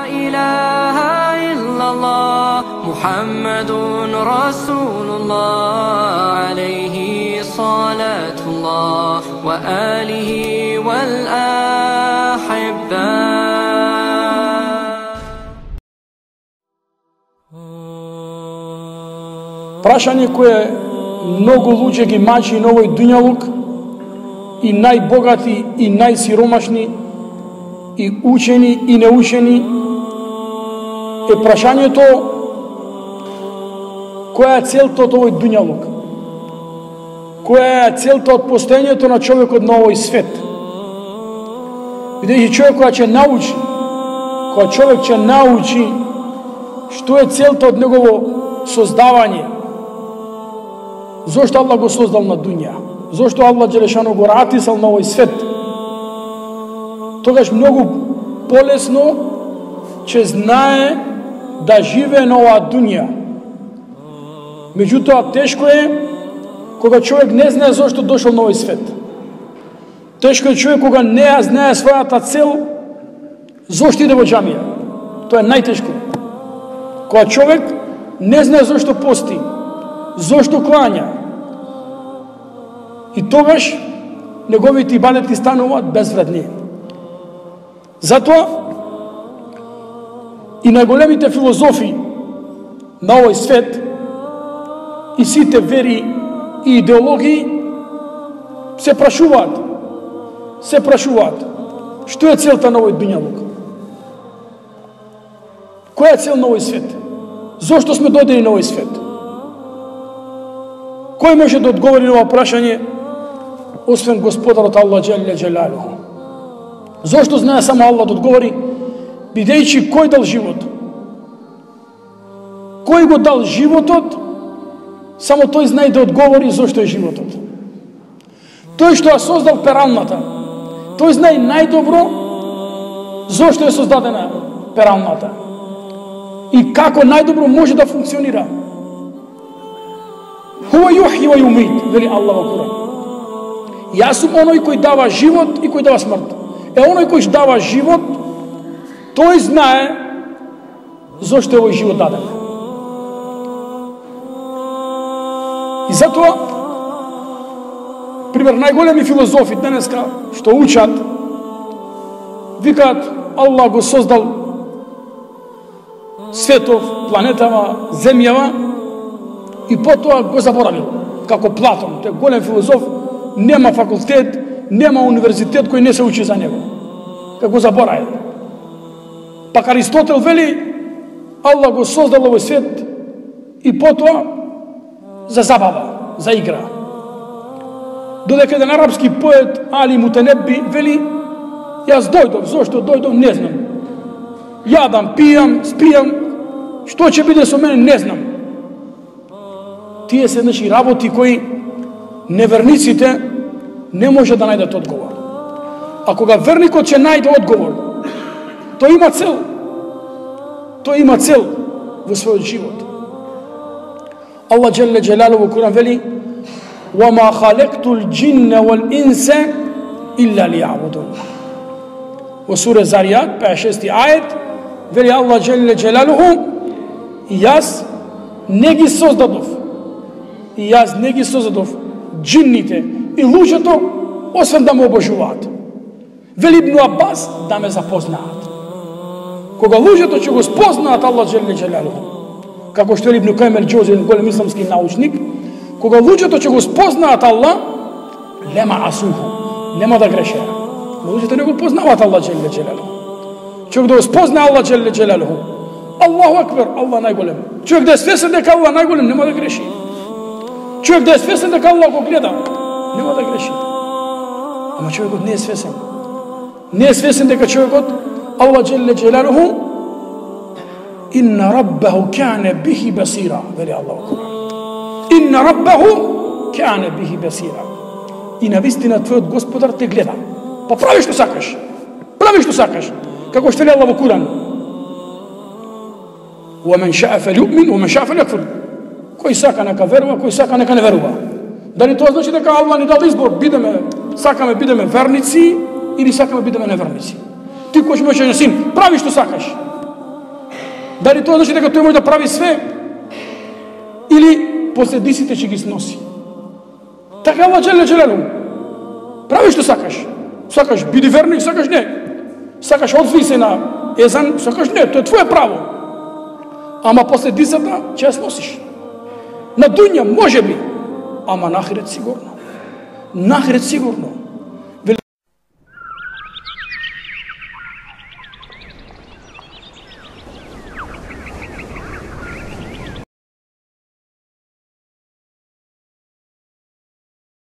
إله إلا الله محمد رسول الله عليه صلاة الله وآله والأحبة. Прашање кое многу луѓе ги мачи на овој дуњалук, и најбогати и најсиромашни, и учени и неучени, е прашањето која е целта од овој дуњалук, која е целта од постоењето на човекот на овој свет. Бидејќи човек која човек ќе научи што е целта од негово создавање, зошто Аллах го создал на дуња, зошто Аллах Джелешано го ратисал на овој свет, тогаш многу полесно ќе знае да живее на оваа дуња. Меѓутоа тешко е кога човек не знае зошто дошол на овој свет. Тешко е човек кога не знае својата цел, зошто иде во џамија. Тоа е најтешко. Кога човек не знае зошто пости, зошто клања, и тогаш неговите ибадети стануваат безвредни. Затоа и најголемите филозофи на овој свет и сите вери и идеологии се прашуваат што е целта на овој дуњалук. Која е цел на овој свет? Зошто сме дојдени на овој свет? Кој може да одговори на ова прашање освен Господарот Аллах Джелле Джелалуху? Зошто знае само Аллах да одговори, бидејќи кој дал живот? Кој го дал животот? Само тој знае да одговори зошто е животот. Тој што ја создал пералната, тој знае најдобро зошто е создадена пералната и како најдобро може да функционира. Хуа юхји ва юмит, вели Аллах во Куран. Јас сум оној кој дава живот и кој дава смрт. Оној кој дава живот, тој знае зошто е овој живот даден. И затоа, пример, најголеми филозофи денеска што учат, викаат Аллах го создал светов, планетава, земјава и потоа го заборавил. Како Платон, тој голем филозоф, нема факултет, нема универзитет кој не се учи за него. Како заборавил. Пак Аристотел вели Аллах го создал овој свет и потоа за забава, за игра. Додека еден арапски поет Али Мутенебби вели јас дојдов, зошто дојдов не знам. Јадам, пијам, спијам, што ќе биде со мене не знам. Тие се работи кои неверниците не може да најдат одговор. А кога верникот ќе најде одговор, тој има цел. Тој има цел во својот живот. Аллах Джелле Джелалуху во Куран вели: "Вама халектул џинна вал инса илля лијабудун." Во сура Заријат, 56 ајет, вели Аллах Джелле Джелалуху: "И јас не ги создадов џинните и луѓето, освен да ме обожуваат." Вели Ибн Аббас да ме запознаат. Кога луѓето ќе го спознаат Аллах Джелле Джелалуху, како што е Ибн Кајим ел-Џаузи, голем исламски научник, кога луѓето ќе го спознаат Аллах, лема асуху, нема да грешеа. Луѓето не го познаваат Аллах Джелле Джелалуху. Човек да го спозна Аллах Джелле Джелалуху, Аллаху акбар, Аллах најголем. Човек да е свесен дека Аллах најголем, нема да греши. Човек да е свесен дека Аллах го гледа, нема да греши. Ама човекот не е свесен. Не е свесен дека човекот Аллах Джелле Джелалуху инна раббаху кане бихи басира, вели Аллах во Куран. Инна раббаху кане бихи басира. И навистина твојот Господар те гледа. Па прави што сакаш. Прави што сакаш. Како што вели Аллах во Куран. Wa man sha'a falyu'min wa man sha'a falyakfur. Кој сака нека верува, кој сака нека не верува. Дали тоа значи дека Аллах ни дал избор, сакаме бидеме верници или сакаме бидеме неверници? Ти кој можеш на син, прави што сакаш. Дали тоа значи дека тој може да прави све? Или последиците ќе ги сноси? Така Аллах джеле джелелу. Прави што сакаш. Сакаш биди верник, сакаш не. Сакаш одзви се на езан, сакаш не, тоа е твое право. Ама последицата ќе ја сносиш. На дуња може би, ама на ахирет сигурно. На ахирет сигурно.